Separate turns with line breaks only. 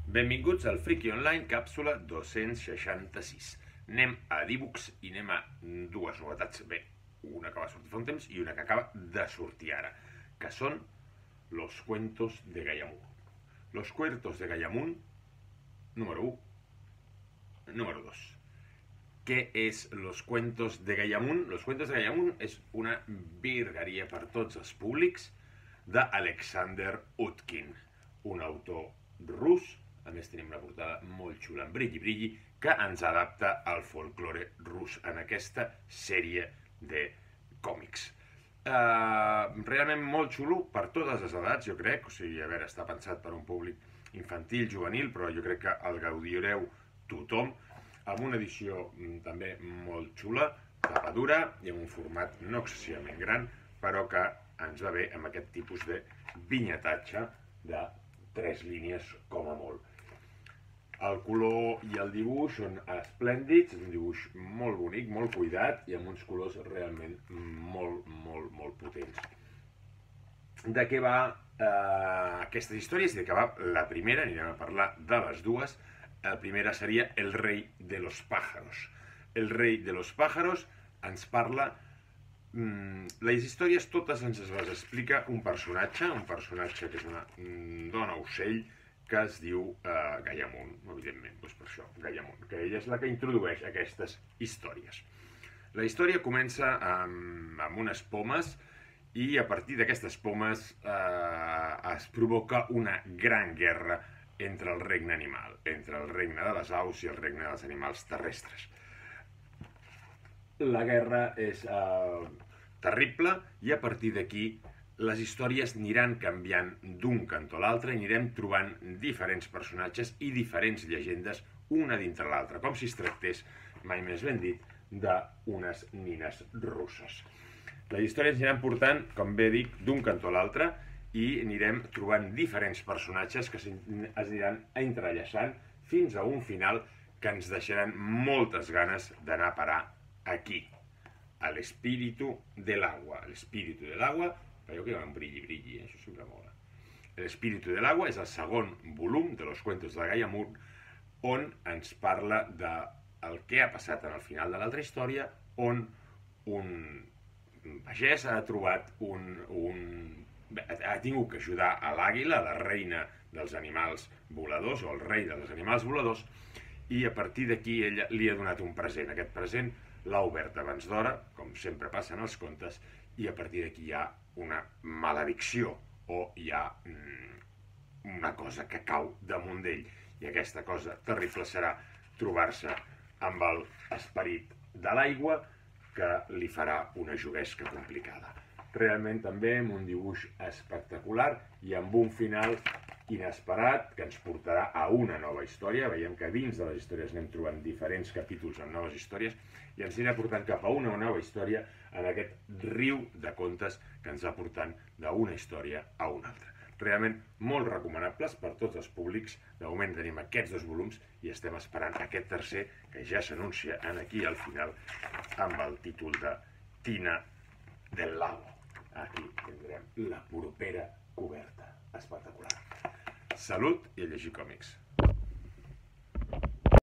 Benvinguts al Friki Online, càpsula 266. Anem a d'ebooks i anem a dues novetats. Bé, una que va sortir fa un temps i una que acaba de sortir ara, que són Los Cuentos de Gallamun. Los Cuentos de Gallamun, número 1. Número 2. Què és Los Cuentos de Gallamun? Los Cuentos de Gallamun és una virgueria per tots els públics d'Alexander Utkin, un autor rus. A més tenim una portada molt xula, en brilli, que ens adapta al folklore rus en aquesta sèrie de còmics. Realment molt xulo per totes les edats, jo crec. O sigui, a veure, està pensat per un públic infantil, juvenil, però jo crec que el gaudireu tothom, amb una edició també molt xula, tapa dura i amb un format no excessivament gran, però que ens va bé amb aquest tipus de vinyetatge de 3 línies com a molt. El color i el dibuix són esplèndids, és un dibuix molt bonic, molt cuidat i amb uns colors realment molt potents. De què va aquestes històries? De què va la primera? Anirem a parlar de les dues. La primera seria El rei de los pájaros. El rei de los pájaros ens parla... Les històries totes ens les explica un personatge que és una dona ocell que es diu Gallamun, evidentment, doncs per això, Gallamun, que ella és la que introdueix aquestes històries. La història comença amb unes pomes i a partir d'aquestes pomes es provoca una gran guerra entre el regne animal, entre el regne de les aus i el regne dels animals terrestres. La guerra és terrible i a partir d'aquí les històries aniran canviant d'un cantó a l'altre i anirem trobant diferents personatges i diferents llegendes una dintre l'altra, com si es tractés, mai més ben dit, d'unes nines russes. Les històries aniran portant, com bé dic, d'un cantó a l'altre i anirem trobant diferents personatges que es aniran entrellaçant fins a un final que ens deixaran moltes ganes d'anar a parar aquí, a l'espíritu del agua. L'espíritu del agua, veieu que hi ha un brilli, això sempre mola. L'espíritu del agua és el segon volum de Los Cuentos de Gallamun, on ens parla del que ha passat en el final de l'altra història, on un pagès ha trobat ha tingut que ajudar a l'àguila, la reina dels animals voladors, o el rei dels animals voladors, i a partir d'aquí ella li ha donat un present. Aquest present l'ha obert abans d'hora, com sempre passa en els contes, i a partir d'aquí hi ha una maledicció o hi ha una cosa que cau damunt d'ell. I aquesta cosa terrible serà trobar-se amb l'esperit de l'aigua que li farà una juguesca complicada. Realment també amb un dibuix espectacular i amb un final inesperat que ens portarà a una nova història. Veiem que dins de les històries anem trobant diferents capítols amb noves històries i ens anirà portant cap a una nova història en aquest riu de contes que ens va portant d'una història a una altra. Realment molt recomanables per tots els públics. De moment tenim aquests 2 volums i estem esperant aquest tercer que ja s'anuncia aquí al final amb el títol de Tina del Lago. Aquí tindrem la propera coberta. Espectacular. Salut i a llegir còmics.